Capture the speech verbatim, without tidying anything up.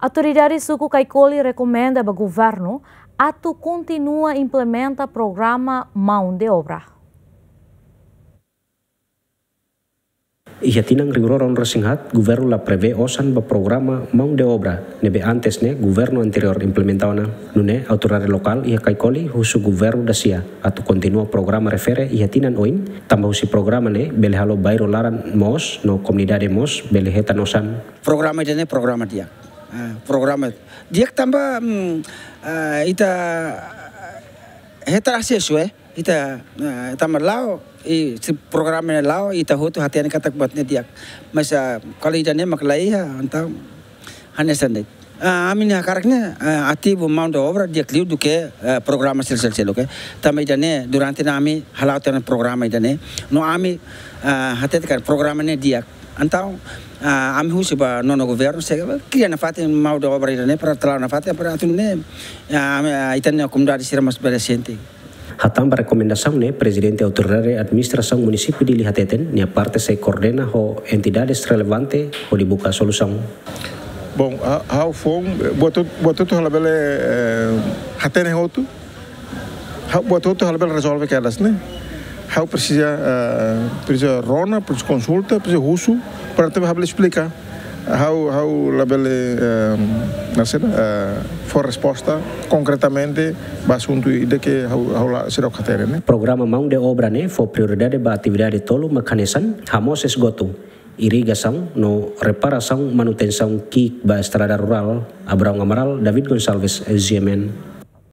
Autoridade suku Caicoli rekomenda ba governu atu kontinua implementa programa mão de obra. Iha tinan rihun rua ruanulu resin haat, governu la prevee osan ba programa mão de obra ne'ebé antes ne'e governu anteriór implementa ona. Nune'e autoridade lokál iha Caicoli husu governu dasia atu kontinua programa refere iha tinan oin, tanba husi programa ne'e bele halo bairru laran moos no komunidade mós bele hetan osan. Programa ida-ne'e programa di'ak. Ah, programa di'ak tanba, mm, ah, ita hetan asesu, eh. Ita, ah, tanba la'o, i se programa ne'e la'o, ita hotu hatene katak buat ne'e di'ak. Mas, ah, kalau ida-ne'e mak la iha, entaun hanesan de'it. Ah, ami-nia hakarak ne'e, ah, ativu mão de obra di'ak liu duké, ah, programa sel-sel seluk, eh. Tanba ida-ne'e durante ne'e ami hala'o tiha ona programa ida-ne'e. No ami, ah, hatete katak programa ne'e di'ak. Entaun, ah, ami husu ba nonu governu, se kria nafatin mão de obra ida-ne'e para atu la'o nafatin, para atu nune'e, ah, ami, ah, ita-nia komunidade sira mós bele sente. Hatán ba rekomendasaun ne'e, Prezidente Autoridade Administrasaun Munisípiu Dili hateten, nia parte sei koordena ho entidades relevante hodi buka solusaun. Bom, ha-, ha'u foun, buat hotu, buat hotu ha'u labele, eh, hatene hotu. Ha'u, buat hotu ha'u labele rezolve kedas ne'e. Ha'u presiza, eh, presiza rona, presiza konsulta, presiza husu, para atu ha'u bele esplika. Ha'u, ha'u labele, eh, hanesan, eh, fó resposta konkretamente ba asuntu ida ke ha'u, ha'u la, seidauk hatene ne'e. Programa mão de obra ne'e fó prioridade ba atividade tolu mak hanesan, hamoos esgotu, irrigasaun no reparasaun manutensaun ki'ik ba estrada rurál. Abraão Amaral, David Gonçalves, G M N.